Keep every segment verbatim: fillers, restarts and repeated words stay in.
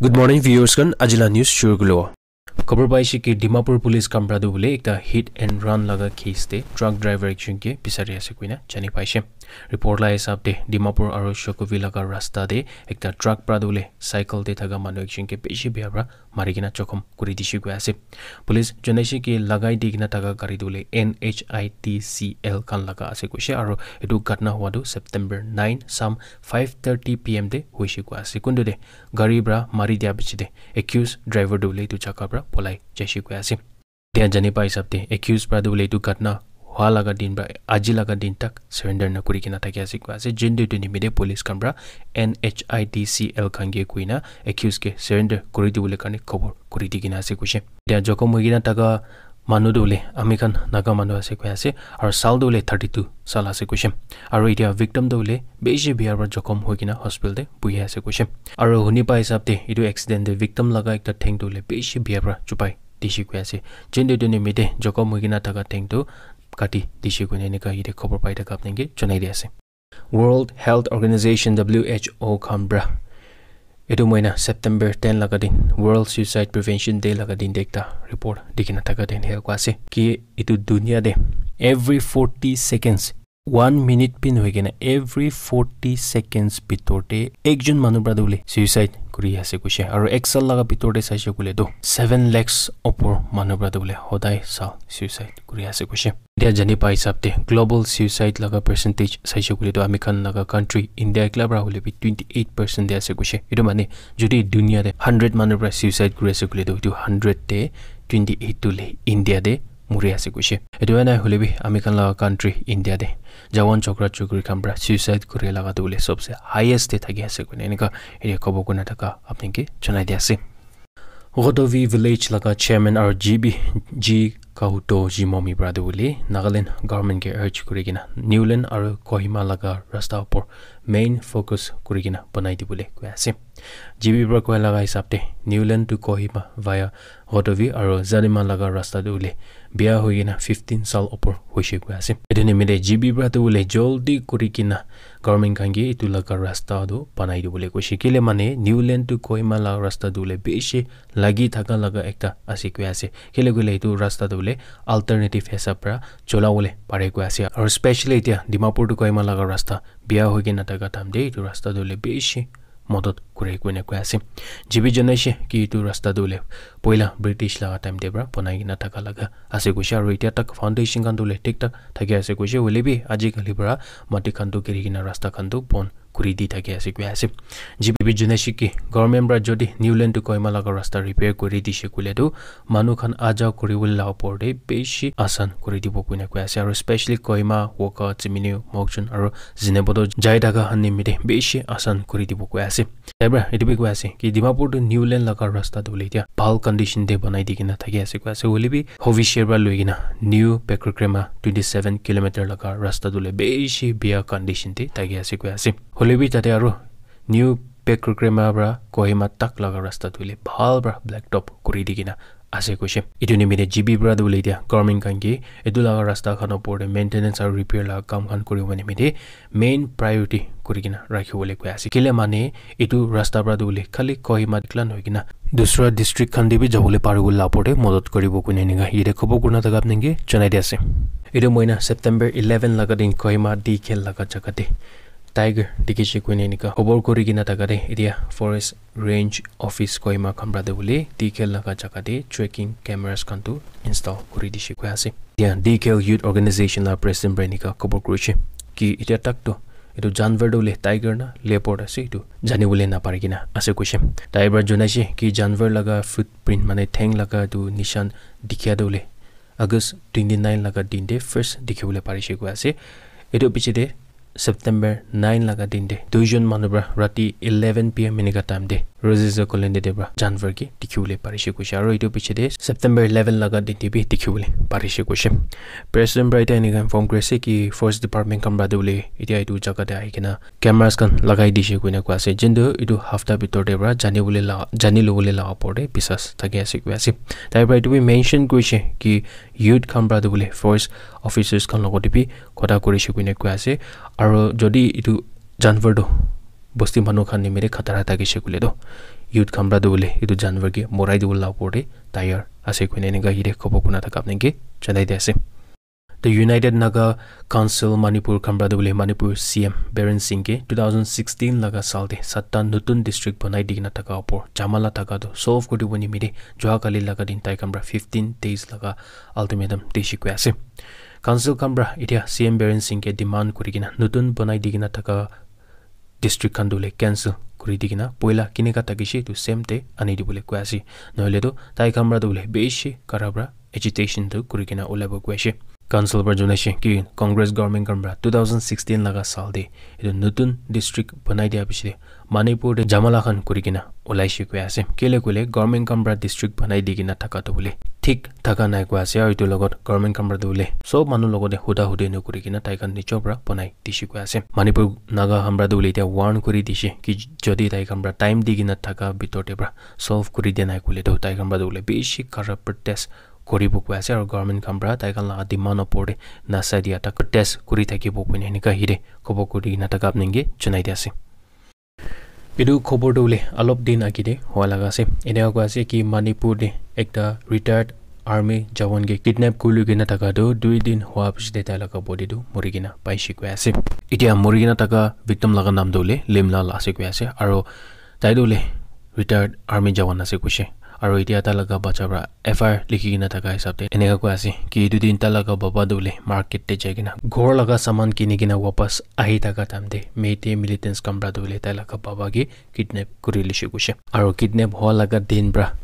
Good morning, viewers khan. Ajila news shuru kulo. Khobor paise ki Dimapur police khan pra tu bole ekta hit and run laga case te truck driver ekjon ke bisari ase koina jani paise. Report la hisab te Dimapur aru Shokuvi laga rasta te ekta truck pra tu bole cycle te thaka manu ekjon ke bishi bia pra mari kena jokhom kuri dishi koi ase. Police jonaise ki lagai di kena thaka gari tu bole N H I T C L khan laga ase koise, aru etu ghatna hua tu September nine sam five thirty P M te hoise koi ase. Kuntu te gari pra mari dia piche te accused driver tu bole etu jaka pra polai jaise koi ase. Tia jani pa hisab te accused pra tu bole etu ghatna hua laga din pra aji laga din tak surrender na kuri kena thaki ase koi ase. Jin tu etu nimite police khan pra N H I T C L khan ke koina accused ke surrender kuri di bole karne khobor kuri di kena ase koise. Tia jokhom hoi kena thaka manu tu bole ami khan Naga manu ase koi ase, aru sal tu bole thirty two sal ase koise. Aru etia victim tu bole bishi bia pra jokhom hoi kena hospital te buhi ase koise. Aru huni pa hisab te etu accident te victim laga ekta theng tu bole bishi bia pra chupai dishi koi ase. Jin tu etu nimite jokhom hoi kena thaka theng tu kati dishi koina enika yate khobor pai thaka apni ke jonai di ase. World Health Organization, W H O khan pra etu moina September ten laga din World Suicide Prevention Day laga din te ekta report di kena thaka din hel koi ase ki etu dunia te every forty seconds, one minute pin hoi kena every forty seconds bitor te ekjon manu pra tu bole suicide kuri ase koise. Aru ek sal laga bitor te saise koile tu seven lakhs opor manu pra tu bole hodai sal suicide kuri ase koise. Etia jani pa hisab te global suicide laga percentage saise koile tu ami khan laga country India ekla pra hoile bi twenty eight percent te ase koise. Etu mane jodi dunia te hundred manu pra suicide kuri ase koile tu etu hundred te twenty eight tu le India te muri ase koise. Etu nai hoile bi ami khan laga country India te jawan chokra chokri khan pra suicide kuri laga tu bole sobse highest te thaki ase koina enika etia khobor kuna thaka apni ke jonai di ase. Godovi village laga chairman aru G B G Kahuto Jimomi pra tu bole Nagaland government ke urge kuri kena Newland aru Kohima laga rasta upor main focus kuri kena banai di bole koi ase. G B pra koi laga hisab te Newland to Kohima via Godovi aru Zadima laga rasta tu bole bia hoi kena fifteen sal upor hoise koi ase. Etu nimite G B pra tu bole joldi kuri kena government khan ke etu laga rasta tu banai di bole koise. Kile mane Newland to Kohima laga rasta tu bole bishi lagi thaka laga ekta ase koi ase. Kile koile etu rasta tu bole alternative hisab pra chola bole pare koi ase. Aru specially etia Dimapur to Kohima laga rasta bia hoi kena thaka time te etu rasta tu bole bishi modot kure koina koi ase. G B jonaise ki etu rasta tu bole poila British laga time te pra banai kena thaka laga ase koise. Aru etia tak foundation khan tu bole thik thak thaki ase koise. Hoile bi aji kali pra mati khan tu giri kena rasta khan tu bon kuri di thaki ase koi ase. G B jonaise ki government pra jodi Newland to Kohima laga rasta repair kuri dise koile tu manu khan aja kuri bole la upor te bishi asan kuri dibo koina koi ase. Aru specially Kohima, Wokha, Tsiminu, Mokokchung aru Zunheboto jai thaka khan nimite bishi asan kuri dibo koi ase. Tai pra etu bi koi ase ki Dimapur tu Newland laga rasta tu bole etia bhal condition te banai di kena thaki ase koi ase. Hoile bi Hobisher pra loi kena New Pekrogrema twenty seven kilometer laga rasta tu bole bishi bia condition te thaki ase koi ase. Hoile bi tate aru New Pekrogrema pra Kohima tak laga rasta tu bole bhal pra black top kuri di kena ase koise. Etu nimite G B pra tu bole etia government khan ke etu laga rasta khan upor te maintenance aru repair laga kam khan kuri bo nimite main priority kuri kena rakhi bole koi ase. Kile mane etu rasta pra tu bole khali Kohima ekla nohoi kena dusra district khan te bi jabo le pari bole la upor te modot kuri bo koina enika yate khobor kuna thaka apni ke jonai di ase. Etu moina September eleven laga din Kohima D K L laga jaga te tiger dikhi se koina enika khobor kuri kena thaka te etia forest range office Kohima khan pra tu bole D K L laga jaga te tracking cameras khan tu install kuri dise koi ase. Etia D K L youth organization la president pra enika khobor kurise ki etia tak tu etu janwar tu bole tiger na leopard ase etu jani bole na pari kena ase koise. Tai pra jonaise ki janwar laga footprint mane theng laga etu nishan dikhia tu bole August twenty nine laga din te first dikhi bole parise koi ase. Etu piche te September nine laga din te duijon manu pra rati eleven P M enika time te Rosie's Colony te pra janwar ke dikhi bole parise koise. Aru etu piche te September eleven laga din te bi dikhi bole parise koise. President pra etia enika inform kuri ase ki forest department khan pra tu bole etia etu jaga te ahi kena cameras khan lagai dise koina koi ase. Jintu etu hafta bitor te pra jani bole la, jani lobole la upor te biswas thaki ase koi ase. Tai pra etu bi mention kurise ki youth khan pra tu bole forest officers khan logot te bi kotha kurise koina koi ase. Aru jodi etu janwar tu bosti manu khan nimite khatara thakishe koile toh youth khan para toh bole etu janwar ke morai dibole la opor te tayar ase koina enika yate khobor kuna thaka apni ke janai di ase. The United Naga Council Manipur khan para toh bole Manipur C M Biren Singh ke two thousand sixteen laga saal te satta notun district banai di kena thaka opor jamala thaka toh solve kuri dibo nimite jua kali laga din tai khan para fifteen days laga ultimatum dishi koi ase. Council khan para etia C M Biren Singh ke demand kuri kena notun banai di kena thaka district khan toh bole cancel kuri di kena poila kineka thakishe etu same te ani dibole koi ase. Nohole toh tai khan para toh bole bishi kara para agitation toh kuri kena ulai bo koi ase. Council para janai she ki Congress government khan para two thousand sixteen laga saal te etu notun district banai dia piche te Manipur te jamala khan kuri kena ulai she koi ase. Kile koile government khan para district banai di kena thaka toh bole thik thaka nai koi ase, aru etu logot government khan para toh bole sob manu logot te huda hudi no kuri kena tai khan nijor para banai dishi koi ase. Manipur Naga khan para toh bole etia warn kuri dishe ki jodi tai khan para time di kena thaka bitor te para solve kuri dia nai koile toh tai khan para toh bole bishi kara protest kuri bo koi ase, aru government khan para tai khan laga demand opor te nasa dia tak protest kuri thaki bo koina enika yate khobor kuri kena thaka apni ke janai di ase. Etu khobor toh bole alop din age te hua laga ase. Enika koi ase ki Manipur te ekta retired army jawan ke kidnap kuri loi kena thaka toh dui din hua piche te tai laga body toh muri kena paishe koi ase. Etia muri kena thaka victim laga naam toh bole Limlal ase koi ase, aru tai toh bole retired army jawan ase koishe. Aru etia tai laga bacha para F I R likhi kena thaka hisab te enika koi ase ki etu din tai laga baba toh bole market te jai kena ghor laga saman kini kena wapas ahi thaka time te Meitei militants khan para toh bole tai laga baba ke kidnap kuri lishe koishe. Aru kidnap hua laga din para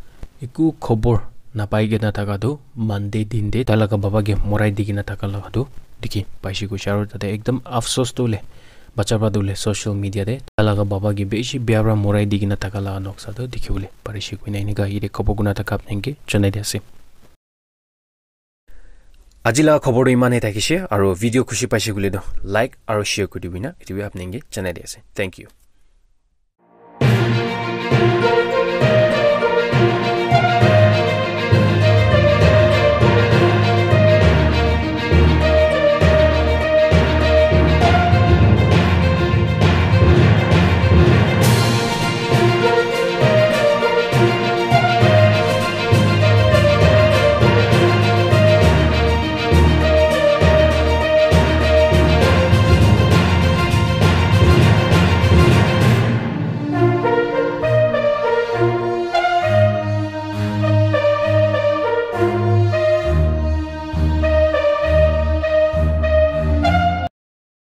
eku khobor napai kena thaka toh Monday din te tai laga baba ke morai di kena thaka laga toh dikhi paishe koishe. Aru tate ekdam afsos toh bole bacha para toh bole social media te tai laga baba ke bishi bia para morai di kena thaka laga noksa toh dikhi bole parishe koina enika yate khobor kuna thaka apni ke janai di ase. Aji laga khobor toh iman he thakishe, aru video khushi paishe koile toh like aru share kuri dibi na etu bi apni ke janai di ase. Thank you.